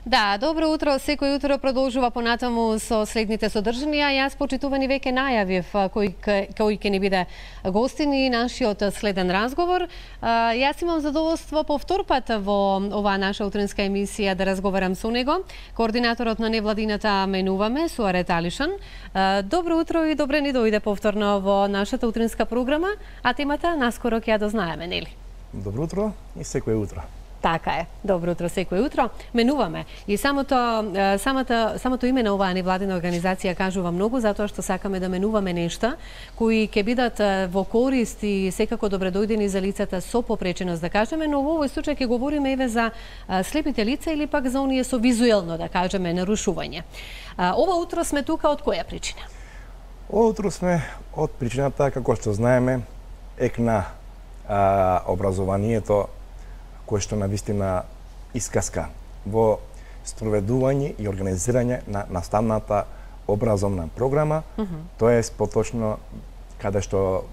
Да, добро утро. Секој утро продолжува понатаму со следните содржинија. Јас, почитувани, веќе најавив кој ќе ни биде гостин и нашиот следен разговор. Јас имам задоволство по втор пат во оваа наша утринска емисија да разговарам со него. Координаторот на невладината Менуваме, Суарет Алишан. Добро утро и добре ни дојде повторно во нашата утринска програма, а темата наскоро ќе ја дознаеме, нели? Добро утро и секој утро. Така е. Добро утро секој утро. Менуваме. И самото име на оваа невладина организација кажува многу, затоа што сакаме да менуваме нешта кои ќе бидат во корист и секако добредојдени за лицата со попреченост, да кажеме, но во овој случај ќе говориме еве за слепите лица или пак за оние со визуелно, да кажеме, нарушување. Ова утро сме тука од која причина? Ова утро сме од причината, како што знаеме, екна образованието кој што навистина искаска во спроведување и организирање на наставната образовна програма, тоест поточно каде што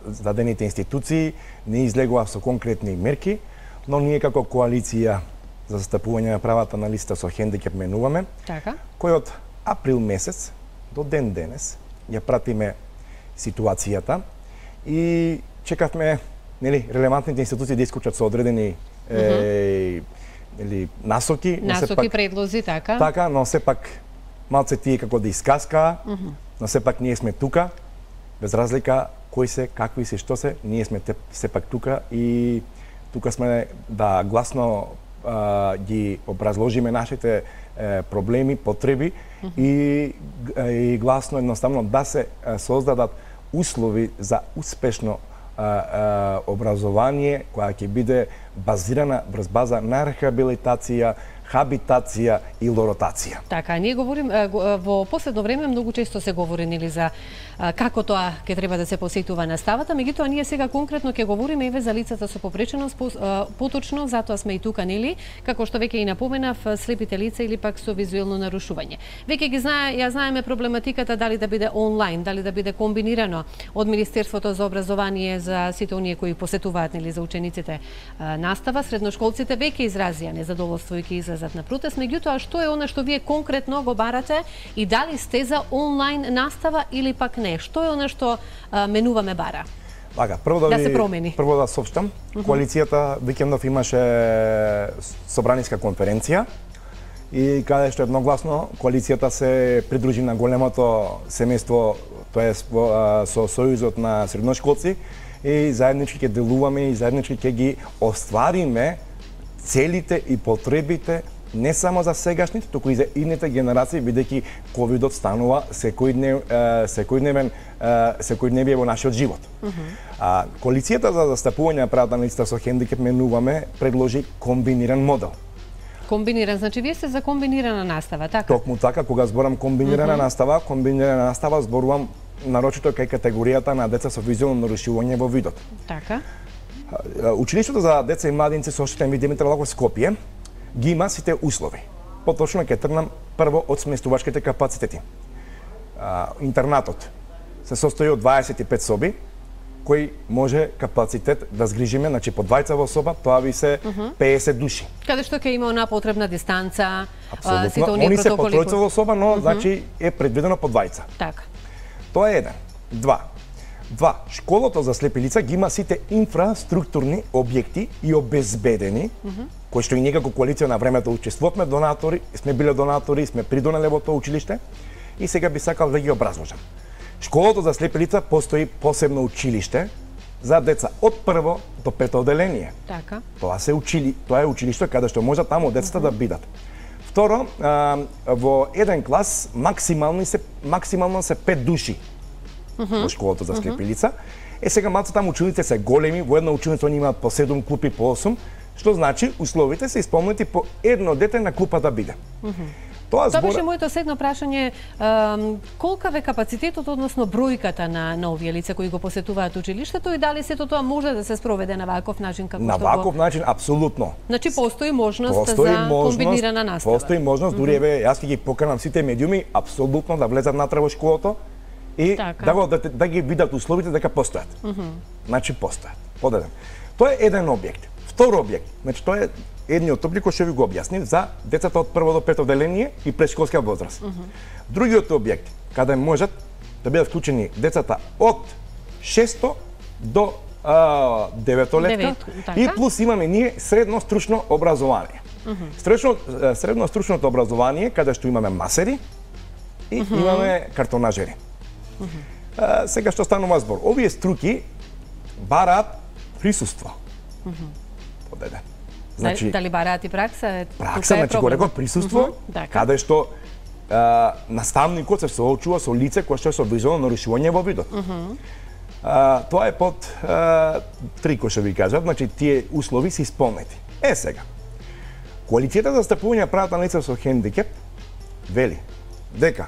зададените институции не излегува со конкретни мерки, но ние како коалиција за застапување на правата на лицата со хендикеп Менуваме, кој од април месец до ден денес ја пратиме ситуацијата и чекавме релевантните институции да исклучат со одредени насоки, предлози, така. Така, но сепак малце тие како да искаскаа, но сепак ние сме тука, без разлика кои се, какви се, што се, ние сме сепак тука и тука сме да гласно ги образложиме нашите проблеми, потреби и гласно едноставно да се создадат услови за успешно образование која ќе биде базирана врз база на рехабилитација, хабитација и лоротација. Така, ние говориме во последно време многу често се говори нели за како тоа ќе треба да се посетува наставата, меѓутоа ние сега конкретно ќе говориме еве за лицата со попреченост, поточно затоа сме и тука, нели, како што веќе и напоменав, слепите лица или пак со визуелно нарушување. Веќе ја знаеме проблематиката дали да биде онлайн, дали да биде комбинирано од Министерството за образование за сите оние кои посетуваат, нели, за учениците настава, средношколците веќе изразија незадоволство и ќе излезат на протест, меѓутоа што е она што вие конкретно го барате и дали сте за онлайн настава или пак не? Што е она што Менуваме бара? Така, прво да соопштам, коалицијата викендов имаше собраниска конференција и каде што едногласно коалицијата се придружи на големото семејство, тоест со Сојузот на средношколци и заеднички ќе делуваме и заеднички ќе ги оствариме целите и потребите не само за сегашните, туку и за идните генерации, бидејќи ковидот станува секојдневие во нашиот живот. Коалицијата за застапување на правата на лицата со хендикеп Менуваме предложи комбиниран модел. Комбиниран, значи вие сте за комбинирана настава, така? Токму така, кога зборам комбинирана настава, зборувам нарочито кај категоријата на деца со визуелно нарушување во видот. Така. Училиштето за деца и младинци со оштетен вид Димитар Лаков Скопје ги има сите услови. Поточно ќе тргнам прво од сместувачките капацитети. Интернатот се состои од 25 соби, кој може капацитет да згрижиме, значи по двајца во соба, тоа би се 50 души. Каде што ќе има она потребна дистанца, сите оние протоколи. Они се по тројца во соба, но значи е предвидено по двајца. Така. Тоа е еден. Два, школото за слепи лица ги има сите инфраструктурни објекти и обезбедени, кои што и ние како коалиција на времето учествувавме донатори, сме биле донатори, сме придонеле во тоа училиште и сега би сакал да ги образложам. Школото за слепи лица постои посебно училиште за деца од прво до пето одделение. Така. Тоа е училиште каде што може таму децата да бидат. Второ, во еден клас максимално се 5 души во школото за слепи лица. Сега малце таму учениците се големи, во една ученица они имаат по 7 клупи по 8, што значи условите се исполнети по едно дете на клупа да биде. Тоа беше моето следно прашање, колкав е капацитетот, односно бројката на овие лица кои го посетуваат училиштето и дали сето тоа може да се спроведе на ваков начин како што на ваков начин апсолутно. Значи постои можност за комбинирана настава. Постои можност, дури еве јас ќе ги поканам сите медиуми апсолутно да влезат натре во школото и да ги видат условите дека постојат. Значи постојат. Подеден. Тоа е еден објект. Втор објект, значи тоа е едниот објект кој што ви го објаснив за децата од 1 до 5 одделение и претшколска возраст. Другиот објект каде можат да бидат вклучени децата од 6 до 9 летка и плюс имаме ние средно стручно образование. Средно стручното образование каде што имаме масери и имаме картонажери. Сега што станува збор? Овие струки бараат присуство. Подеде. Значи, дали бараат и пракса? Пракса, значи го реков присуство, каде што наставникот се соочува со лице кое што е со визуелно нарушување во видот. Тоа е под 3 кој што ви кажат, значи тие услови се исполнети. Сега, Коалицијата за застапување правата на лица со хендикеп вели дека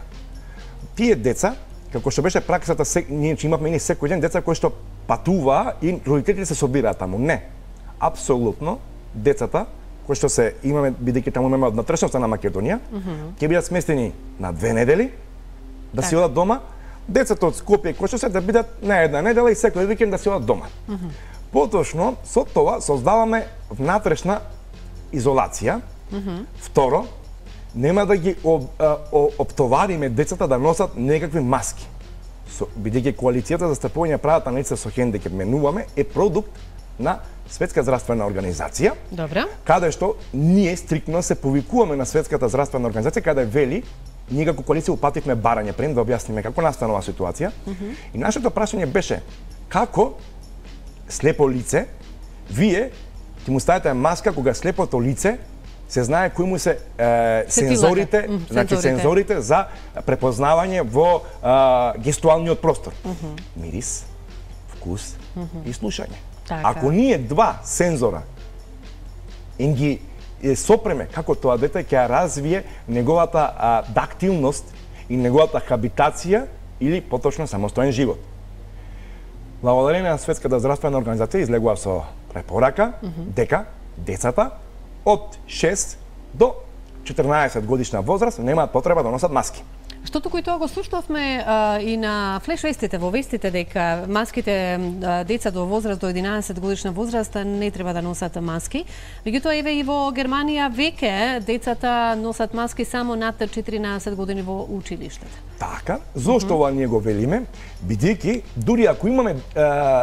тие деца, како што беше праксата, ние имавме секој ден деца кои што патуваа и родителите се собираат таму. Не. Апсолутно, децата кои што се имаме, бидејќи таму имаме од натрешноста на Македонија, ќе бидат сместени на 2 недели, да си одат дома. Децата од Скопје кои што се да бидат на 1 недела и секој викенд да си одат дома. Поточно, со тоа создаваме внатрешна изолација. Второ, нема да ги оптовариме децата да носат некакви маски. Бидејќи Коалицијата за застапување правата на лица со хендикеп менуваме е продукт на Светска здравствена организација. Добро. Каде што ние стриктно се повикуваме на Светската здравствена организација каде вели, ние како коалиција упативме барање пред да објасниме како настанува ситуација. И нашето прашање беше како слепо лице вие ќе му ставите маска кога слепото лице се знае кои му се сензорите, значи сензорите за препознавање во гестуалниот простор. Мирис, вкус и слушање. Ако ние два сензора ги сопреме како тоа дете ќе развие неговата дактилност и неговата хабитација или поточно самостоен живот. Благодарение на Светската здравствена организација излегува со препорака дека децата од 6 до 14 годишна возраст немаат потреба да носат маски. Што туку и тоа го слушнавме и на флеш вестите, во вестите, дека маските деца до возраст до 11 годишна возраст не треба да носат маски. Меѓутоа еве и во Германија веќе децата носат маски само над 14 години во училиштето. Така, зошто ова ние го велиме? Бидејќи дури ако имаме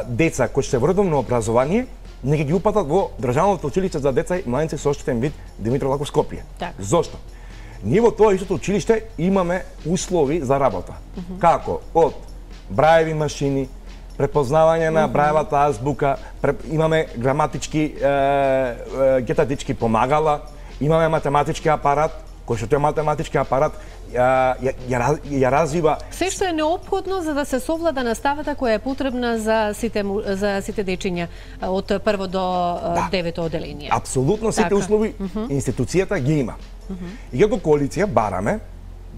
деца кои се во редовно образование, не ги упатат во Државното училиште за деца и младенци со оштетен вид Димитро Лаков Скопје. Зошто? Ние во тоа истото училиште имаме услови за работа. Како? Од браеви машини, препознавање на браевата азбука, имаме граматички, гетатички помагала, имаме математички апарат, кој што тој математички апарат ја развива се што е неопходно за да се совлада наставата која е потребна за сите дечиња од 1 до 9 одделение. Апсолутно сите услови институцијата ги има. И како коалиција бараме,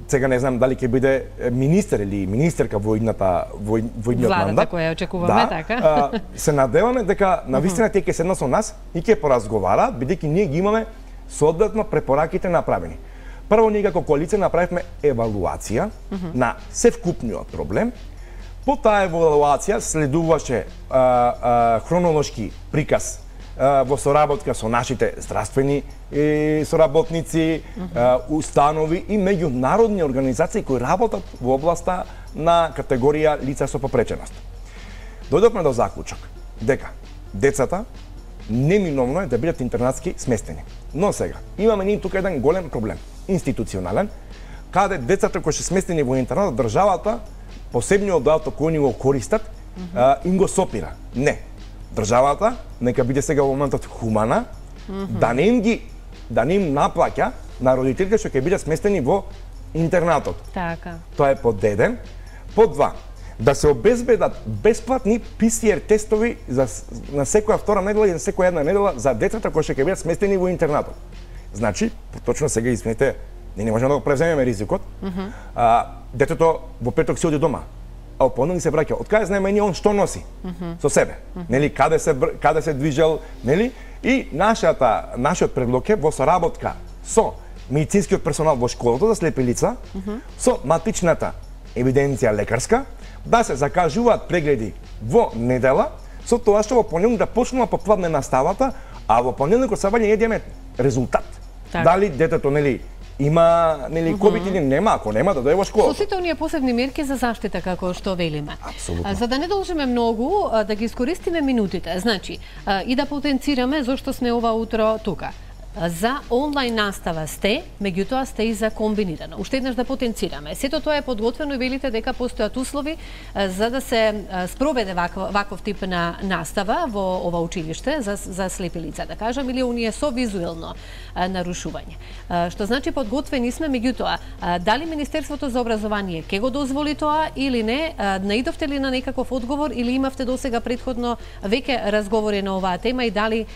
сега не знам дали ќе биде министер или министерка во идниот мандат, која очекуваме, така. Се надеваме дека навистина тие ќе седнат со нас и ќе поразговараат, бидејќи ние ги имаме соодветно препораките направени. Прво, ние како коалиција направивме евалуација на севкупниот проблем. По таа евалуација следуваше хронолошки приказ во соработка со нашите здравствени соработници, установи и меѓународни организации кои работат во областа на категорија лица со попреченост. Дојдовме до заклучок дека децата неминовно е да бидат интернатски сместени. Но сега, имаме ние тука еден голем проблем, институционален, каде децата кои се сместени во интернат, државата, посебниот доаток кој ни го користат, им го сопира. Не. Државата нека биде сега во моментот хумана, да не им наплаќа на родителите што ќе бидат сместени во интернатот. Така. Тоа е под 1. Под 2. Да се обезбедат бесплатни PCR тестови на секоја втора недела и на секоја една недела за децата кои ќе бидат сместени во интернатот. Значи, точно сега извините, не можеме да го превземеме ризикот. Детето во петок си оди дома, а опонели се враќа. Од каде знаеме ние он што носи со себе? Нели каде се движел, нели? И нашиот предлог е во соработка со медицинскиот персонал во школата за слепи лица, со матичната евиденција лекарска, да се закажуваат прегледи во недела, со тоа што во понеделник да почнува попладне наставата, а во понеделникот сабање ние имаме резултат. Дали детето нели има нели ковид или нема, ако нема да дојде во школа. Со сите оние посебни мерки за заштита како што велиме. Апсолутно. За да не должиме многу, да ги искористиме минутите. Значи, и да потенцираме зошто сме ова утро тука. За онлайн настава сте, меѓутоа сте и за комбинирано. Уште еднаш да потенцираме. Сето тоа е подготвено и велите дека постојат услови за да се спроведе ваков тип на настава во ова училиште за слепи лица, да кажам, или оние со визуелно нарушување. Што значи подготвени сме, меѓутоа, дали Министерството за образование ќе го дозволи тоа или не, наидовте ли на некаков одговор или имавте досега претходно веќе разговори на оваа тема и дали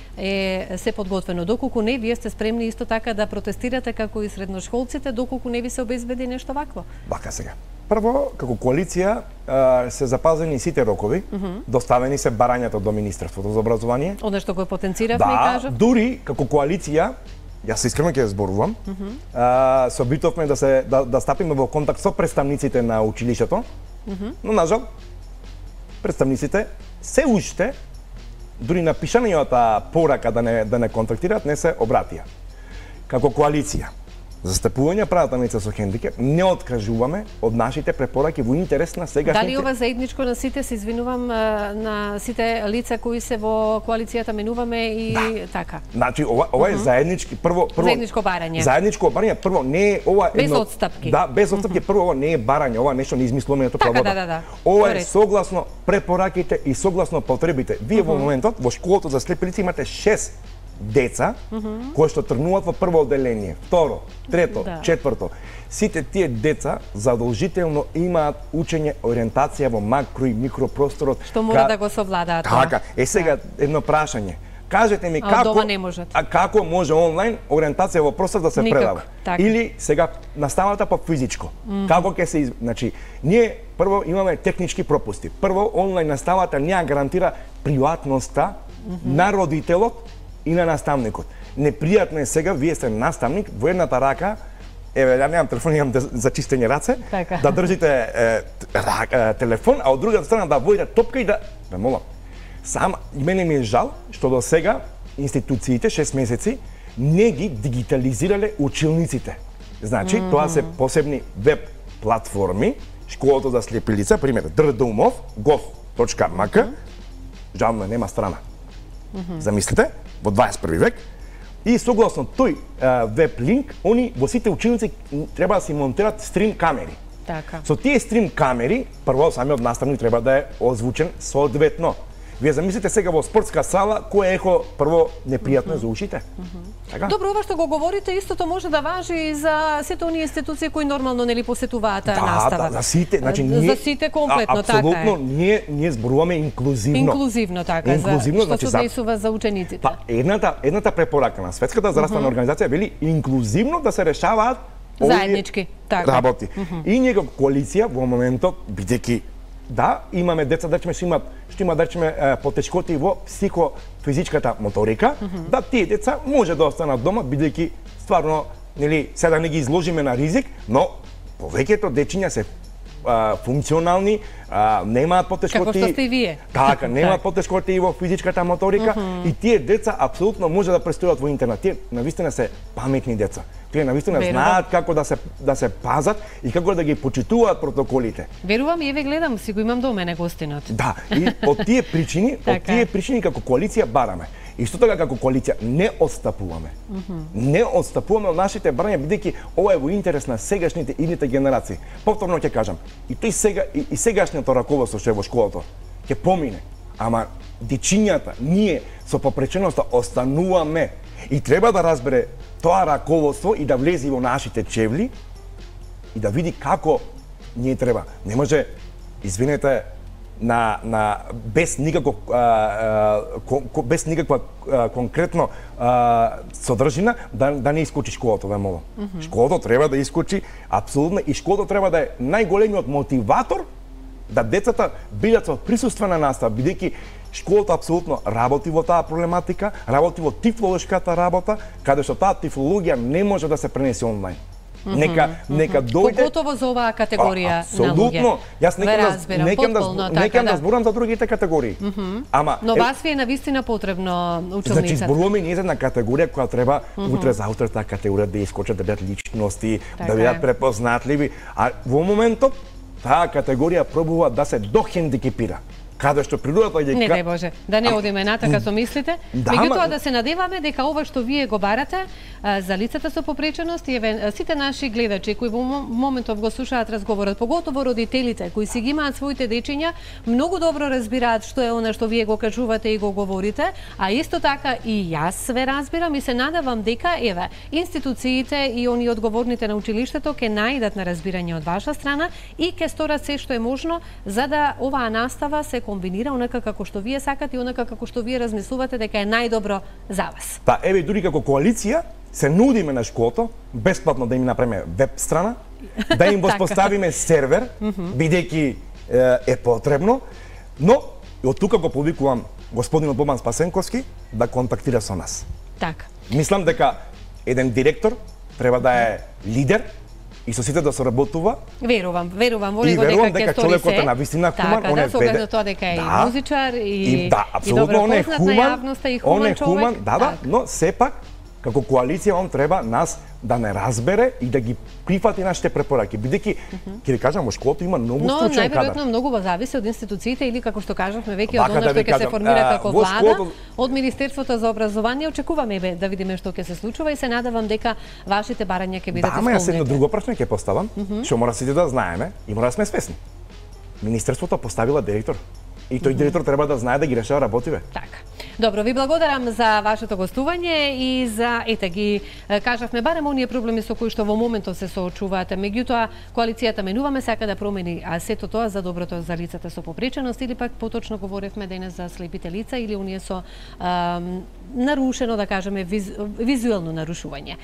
се подготвено, доколку не вие сте спремни исто така да протестирате како и средношколците, доколку не ви се обезбеди нешто вакво? Вака сега. Прво, како коалиција се запазени сите рокови, доставени се барањата до Министерството за образование. Оно што го потенциравме и кажав. Да, дури како коалиција, јас искрено ќе зборувам, се обитовме да стапиме во контакт со представниците на училиштето, но нажал представниците се уште дури на пишањата порака да не контактираат, не се обратија. Како коалиција за застапување правата на лица со хендикеп, не откажуваме од нашите препораки во интерес на сегашните... Дали ова заедничко на сите, се извинувам, на сите лица кои се во коалицијата менуваме и така? Значи, ова е заеднички, прво... Заедничко барање. Заедничко барање, прво, не е ова... Без отстапки. Да, без отстапки, прво, ова не е барање, ова нешто не измислуваме тоа вода. Да. Ова е согласно препораките и согласно потребите. Вие во моментот, во школото за слепи лица имате 6 деца кои што тргнуваат во прво одделение, второ, трето, четврто. Сите тие деца задолжително имаат учење ориентација во макро и микропросторот. Што мора да го совладаат. Така, сега едно прашање. Кажете ми како може онлайн ориентација во простор да се предава? Или сега наставата по физичко. Како ќе се значи ние прво имаме технички пропусти. Прво онлайн наставата не гарантира приватноста на родителот и на наставникот. Непријатно е сега, вие сте наставник, во едната рака, еве, ја немам телефон, имам за чистење раце, да држите телефон, а од другата страна да водите топка и да молам. Сам, мене ми е жал, што до сега институциите, 6 месеци, не ги дигитализирале училниците. Значи, тоа се посебни веб платформи, школото за слепи лица, пример, ddumov.gov.mk, жално нема страна. Замислите, во 21 век, и согласно тој веб линк, они во сите училници треба да се монтират стрим камери. Така. Со тие стрим камери, прво самиот наставник треба да е озвучен соодветно. Вие замислите сега во спортска сала, кој ехо прво непријатно за ушите. Така? Добро, ова што го говорите, истото може да важи и за сите оние институции кои нормално нели посетуваат настава. Да, за сите, значи ние за сите комплетно, така е. Апсолутно, ние зборуваме инклузивно. Инклузивно, така, инклузивно, за што се однесува за учениците. Па, едната препорака на Светската здравствена организација вели инклузивно да се решаваат заеднички, така. Работи. И ние како коалиција во моментот, бидејќи да, имаме деца да што имаат да потешкоти во психофизичката моторика, да тие деца може да останат дома бидејќи стварно нели сега не ги изложиме на ризик, но повеќето дечиња се функционални, немаат потешкоти. Како што сте и вие. Така, немаат потешкоти и во физичката моторика и тие деца апсолутно може да престојат во интернет. Тие навистина се паметни деца. Тие навистина знаат како да се пазат и како да ги почитуваат протоколите. Верувам и еве гледам, си го имам до мене гостинот. Да, и од тие причини, како коалиција бараме. Исто така како коалиција не отстапуваме. Не отстапуваме од нашите барања бидејќи ова е во интерес на сегашните идните генерации. Повторно ќе кажам, и тој сега и сегашното раководство што е во школото ќе помине, ама дечињата ние со попреченоста остануваме и треба да разбере тоа раководство и да влезе во нашите чевли и да види како ние треба. Не може, извинете, без никаква конкретно содржина да не искочи школото, ве молам. Школото треба да искочи апсолутно и школото треба да е најголемиот мотиватор да децата бидат со присуствена настава, бидејќи школата апсолутно работи во таа проблематика, работи во тифлолошката работа, каде што таа тифлологија не може да се пренесе онлайн. Нека дојде. Поготово за оваа категорија на луѓе. Апсолутно. Јас некам да зборам за другите категории. Ама но вас ви е навистина потребно училница. Значи зборуваме ние за една категорија која треба утре за утре таа категорија да искочат, да бидат личности, да бидат препознатливи, а во моментот таа категорија пробува да се дохендикепира. Каде што природата ги не дај Боже, да не одиме натака со мислите, меѓутоа да се надеваме дека ова што вие го барате за лицата со попреченост и сите наши гледачи кои во моментов го слушаат разговорот, поготово родителите кои си ги имаат своите дечиња, многу добро разбираат што е она што вие го кажувате и го говорите, а исто така и јас све разбирам и се надевам дека еве институциите и они одговорните на училиштето ќе најдат на разбирање од ваша страна и ќе сторат се што е можно за да оваа настава се комбинира онака како што вие сакате и онака како што вие размислувате дека е најдобро за вас. Па еве дури како коалиција се нудиме на школото бесплатно да им направиме веб страна, да им воспоставиме сервер, бидејќи е потребно, но од тука го повикувам господинот Бобан Спасенковски да контактира со нас. Така. Мислам дека еден директор треба да е лидер и со сите да соработува. Верувам во него дека човекот е навистина хуман, он е со тоа дека е музичар и апсолутно он е хуман човек. Но сепак како коалиција он треба нас да не разбере и да ги прифати нашите препораки, бидејќи ќе ви кажам во школото има многу стручен кадар. Но најверојатно многу зависи од институциите или како што кажавме веќе од она што ќе се формира како влада, од Министерството за образование. Очекуваме да видиме што ќе се случува и се надевам дека вашите барања ќе бидат исполнети. Да, јас едно друго прашање ќе поставам, што мора сите да знаеме и мора да сме свесни. Министерството поставила директор и тој директор треба да знае да ги решава работиве. Така. Добро, ви благодарам за вашето гостување и за ги кажавме барем оние проблеми со кои што во моментот се соочуваате. Меѓутоа коалицијата менуваме сака да промени сето тоа за доброто за лицата со попреченост или пак поточно говоревме денес за слепите лица или оние со нарушено да кажеме визуелно нарушување.